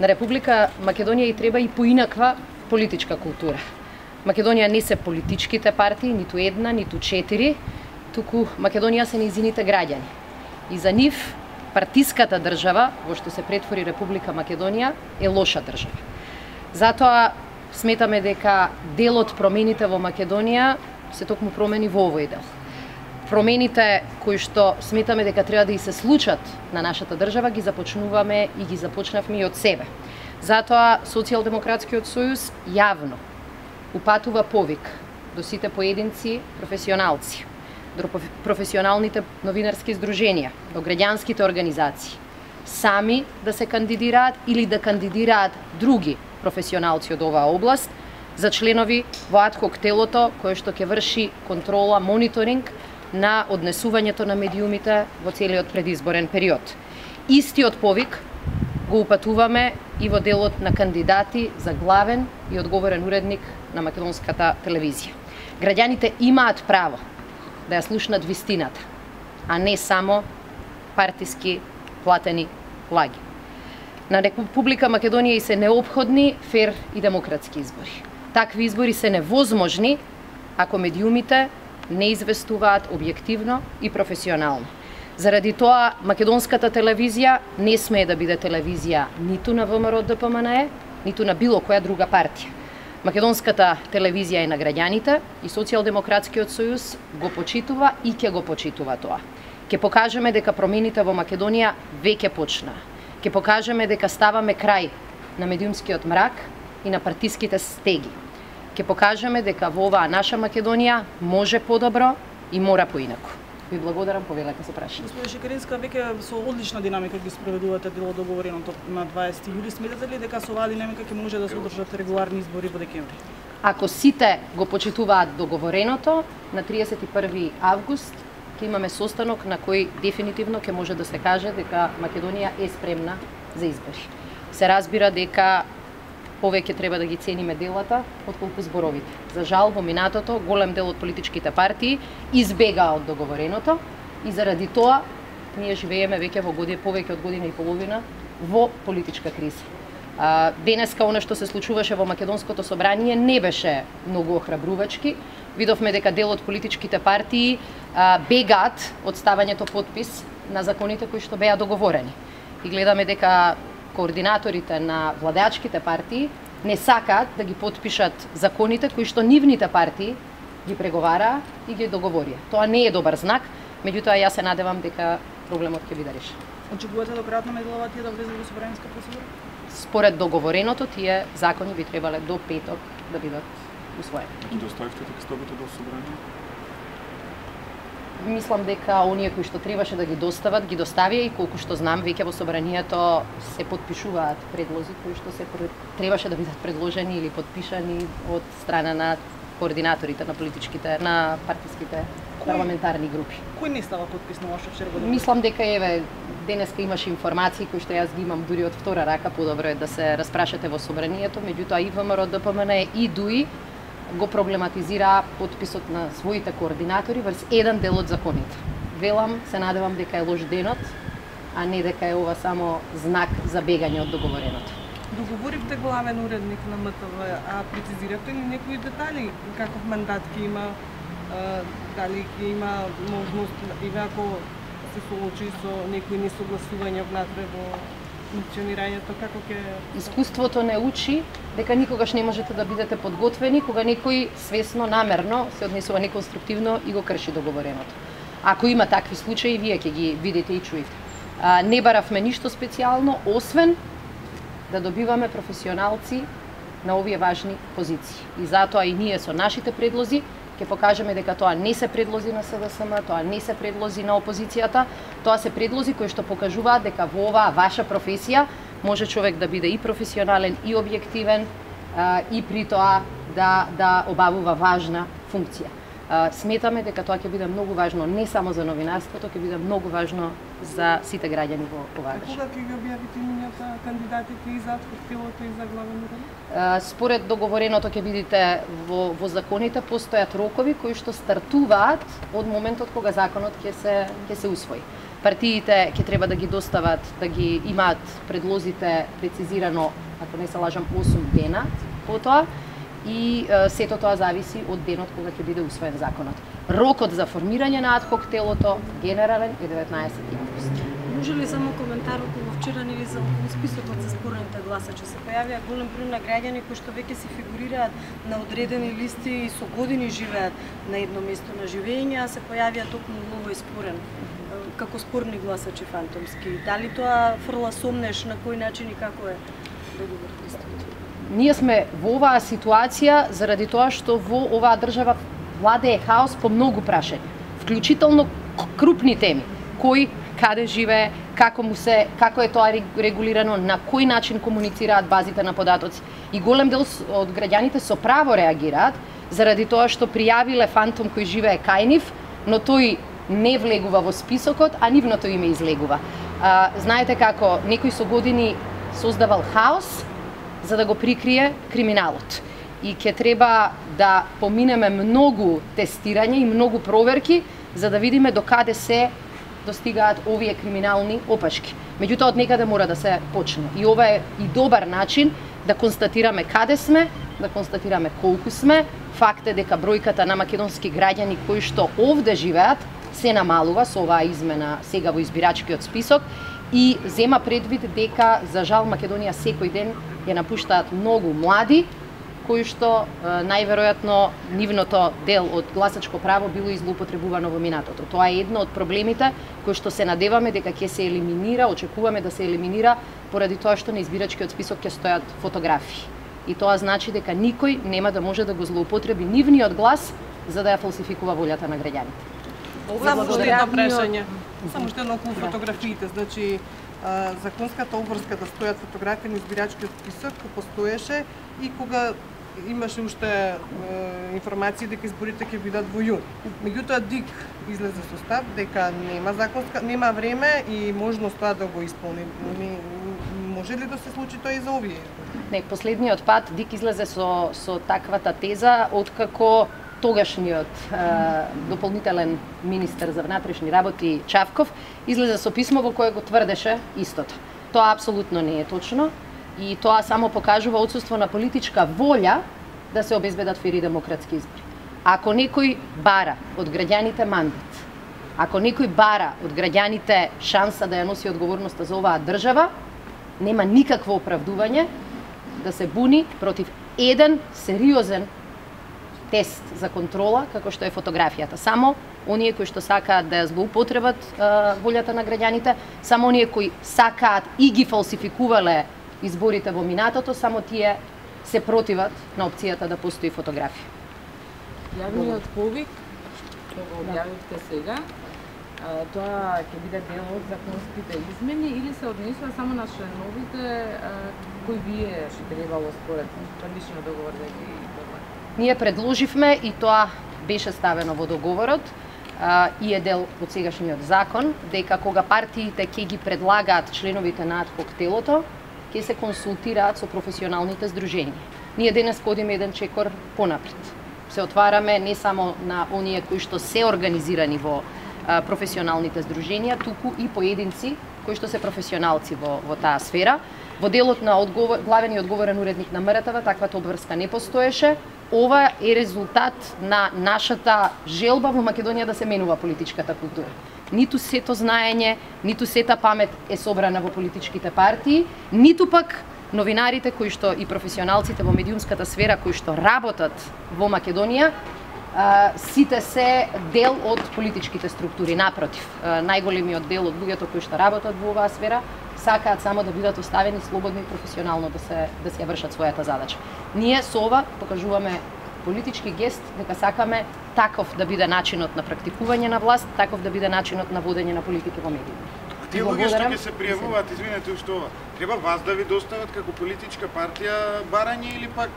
На Република Македонија и треба и поинаква политичка култура. Македонија не се политичките партии, ниту една, ниту 4, туку Македонија се нејзините граѓани. И за нив партиската држава, во што се претвори Република Македонија, е лоша држава. Затоа сметаме дека дел од промените во Македонија се токму промени во овој дел. Промените кои што сметаме дека треба да и се случат на нашата држава ги започнуваме и ги започнавме и од себе. Затоа Социјалдемократскиот сојуз јавно упатува повик до сите поединци професионалци, до професионалните новинарски здруженија, до граѓанските организации, сами да се кандидираат или да кандидираат други професионалци од оваа област за членови во адхок телото кое што ќе врши контрола, мониторинг на однесувањето на медиумите во целиот предизборен период. Истиот повик го упатуваме и во делот на кандидати за главен и одговорен уредник на македонската телевизија. Граѓаните имаат право да ја слушнат вистината, а не само партиски платени лаги. На Република Македонија и се неопходни фер и демократски избори. Такви избори се невозможни ако медиумите не известуваат објективно и професионално. Заради тоа, македонската телевизија не смее да биде телевизија ниту на ВМРО ДПМНЕ, ниту на било која друга партија. Македонската телевизија е на граѓаните и Социјалдемократскиот сојуз го почитува и ќе го почитува тоа. Ќе покажеме дека промените во Македонија веќе почнаа. Ќе покажеме дека ставаме крај на медиумскиот мрак и на партиските стеги. Ќе покажеме дека во оваа наша Македонија може подобро и мора поинаку. Ви благодарам, повелете се прашање. Господи Шекеринска, веќе со одлична динамика ги спроведувате дело договореното на 20 јули. Сметате ли дека со оваа динамика ќе може да се одржат регуларни избори во декември? Ако сите го почитуваат договореното, на 31 август ќе имаме состанок на кој дефинитивно ќе може да се каже дека Македонија е спремна за избори. Се разбира дека повеќе треба да ги цениме делата отколку зборовите. За жал, во минатото голем дел од политичките партии избегаа од договореното и заради тоа ние живееме веќе во повеќе од година и половина во политичка криза. Денеска она што се случуваше во Македонското собрание не беше многу охрабрувачки. Видовме дека дел од политичките партии бегаат од ставањето подпис на законите кои што беа договорени. И гледаме дека координаторите на владеачките партии не сакаат да ги потпишат законите кои што нивните партии ги преговараа и ги договорија. Тоа не е добар знак, меѓутоа јас се надевам дека проблемот ќе биде решен. Очекувате до крајот на неделава тие да влезат во собраниска процедура? Според договореното, тие закони би требале до петок да бидат усвоени. Ги доставивте текстовите до собрание? Мислам дека оние кои што требаше да ги достават, ги доставија и колку што знам, веќе во собранието се потпишуваат предлози кои што се требаше да бидат предложени или подпишани од страна на координаторите на политичките, на партиските парламентарни групи. Кој не става подписнува што вчера го добро? Мислам дека денеска имаше информации кои што јас ги имам дури од втора рака, подобро е да се распрашате во собранието, меѓутоа и ВМРО ДПМНЕ и ДУИ го проблематизира подписот на своите координатори врз еден дел од законите. Велам, се надевам дека е лош денот, а не дека е ова само знак за бегање од договореното. Договоривте главен уредник на МТВ, а прецизирате ли некои детали? Каков мандат ќе има, дали ќе има можност, или ако се соочи со некои несогласувања внатре во функционирањето, како ќе... Искуството не учи дека никогаш не можете да бидете подготвени кога некој свесно, намерно се однесува неконструктивно и го крши договореното. Ако има такви случаи, вие ќе ги видите и чуете. Не баравме ништо специјално, освен да добиваме професионалци на овие важни позиции. И затоа и ние со нашите предлози ќе покажеме дека тоа не се предлози на СДСМ, тоа не се предлози на опозицијата, тоа се предлози кои што покажуваат дека во оваа ваша професија може човек да биде и професионален, и објективен, и при тоа да обавува важна функција. Сметаме дека тоа ќе биде многу важно не само за новинарството, ќе биде многу важно за сите граѓани во оваа држава. Кога ќе ги објавите имињата кандидатите и за телото и за главен уредник? Според договореното ќе видите во законите постојат рокови кои што стартуваат од моментот кога законот ќе се усвои. партиите ќе треба да ги достават, да ги имаат предлозите прецизирано, ако не се лажам, 8 дена по тоа, и сето тоа зависи од денот кога ќе биде усвоен законот. Рокот за формирање на адхок телото генерален е 19 август. Може ли само коментар околу вчера или за списокот за спорните гласачи? Се појавија голем број на граѓани кои што веќе се фигурираат на одредени листи и со години живеат на едно место на живење, а се појавија токму ново спорен како спорни гласачи фантомски. Дали тоа фрла сомнеш на кој начин и како е договорот истото? Ние сме во оваа ситуација заради тоа што во оваа држава владее хаос по многу прашања, вклучително крупни теми, кој каде живее, како е тоа регулирано, на кој начин комуницираат базите на податоци. И голем дел од граѓаните со право реагираат заради тоа што пријавиле фантом кој живее кај нив, но тој не влегува во списокот, а нивното име излегува. Знаете како некој со години создавал хаос за да го прикрие криминалот. И ќе треба да поминеме многу тестирање и многу проверки за да видиме до каде се достигаат овие криминални опашки. Меѓутоа од некаде мора да се почне. И ова е и добар начин да констатираме каде сме, да констатираме колку сме. Факт е дека бројката на македонски граѓани кои што овде живеат се намалува со оваа измена сега во избирачкиот список и зема предвид дека за жал Македонија секој ден ја напуштаат многу млади кои што најверојатно нивното дел од гласачко право било излоупотребувано во минатото. Тоа е едно од проблемите кои што се надеваме дека ќе се елиминира, очекуваме да се елиминира поради тоа што на избирачкиот список ќе стојат фотографии. И тоа значи дека никој нема да може да го злоупотреби нивниот глас за да ја фалсификува волјата на граѓаните. Само што едно прашање. Само што едно околу фотографиите, значи законската обврска да стојат фотографии на избирачкиот список постоеше и кога имаше уште информации дека изборите ќе бидат во јуни. Меѓутоа ДИК излезе со став дека нема време и можност тоа да го исполни. Може ли да се случи тоа и за овие? Не, последниот пат ДИК излезе со таквата теза откако тогашниот дополнителен министер за внатрешни работи Чавков излезе со писмо во кое го тврдеше истото. Тоа апсолутно не е точно и тоа само покажува отсуство на политичка волја да се обезбедат фери демократски избори. Ако некој бара од граѓаните мандат, ако некој бара од граѓаните шанса да ја носи одговорноста за оваа држава, нема никакво оправдување да се буни против еден сериозен тест за контрола, како што е фотографијата. Само оние кои што сакаат да ја злоупотребат волјата на граѓаните, само оние кои сакаат и ги фалсификувале изборите во минатото, само тие се противат на опцијата да постои фотографија. Јавниот повик, што го објавивте сега, тоа ќе биде дел од законските измени или се однесува само на членовите кои вие што требало според првичниот договор да ги договорите? Ние предложивме и тоа беше ставено во договорот и е дел од сегашниот закон, дека кога партиите ќе ги предлагаат членовите на адхок телото, ќе се консултираат со професионалните здруженија. Ние денес одиме еден чекор понапред. Се отвараме не само на оние кои што се организирани во професионалните здруженија, туку и поединци кои што се професионалци во таа сфера. Во делот на главен и одговорен уредник на МРТВ таквата обврска не постоеше. Ова е резултат на нашата желба во Македонија да се менува политичката култура. Ниту сето знаење, ниту сета памет е собрана во политичките партии, ниту пак новинарите кои што и професионалците во медиумската сфера кои што работат во Македонија, сите се дел од политичките структури. Напротив, најголемиот дел од луѓето кои што работат во оваа сфера сакаат само да бидат оставени слободни и професионално да се ја вршат својата задача. Ние со ова покажуваме политички гест дека сакаме таков да биде начинот на практикување на власт, таков да биде начинот на водење на политика во медиите. Тие луѓе што ќе се пријавуваат, извинете уште ова, треба вас да ви достават како политичка партија барање или пак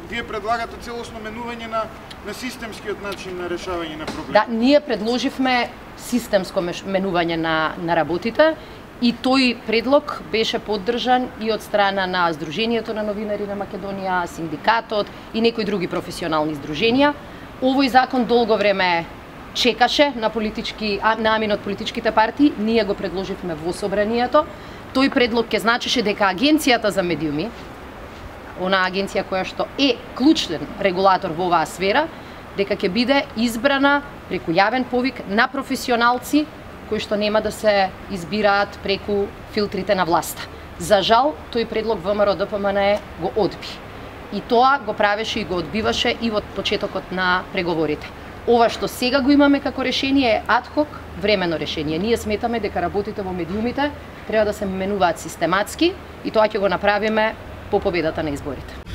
вие предлагате целосно менување на системскиот начин на решавање на проблеми? Да, ние предложивме системско менување на работите и тој предлог беше поддржан и од страна на Сдруженијето на новинари на Македонија, синдикатот и некои други професионални здруженија. Овој закон долго време чекаше на намин од политичките партии, ние го предложивме во собранието. Тој предлог ќе значеше дека Агенцијата за медиуми, онаа агенција која што е клучен регулатор во оваа сфера, дека ќе биде избрана преку јавен повик на професионалци кои што нема да се избираат преку филтрите на власта. За жал, тој предлог ВМРО ДПМНЕ го одби. И тоа го правеше и го одбиваше и во почетокот на преговорите. Ова што сега го имаме како решение е адхок, временно решение. Ние сметаме дека работите во медиумите треба да се менуваат систематски и тоа ќе го направиме по победата на изборите.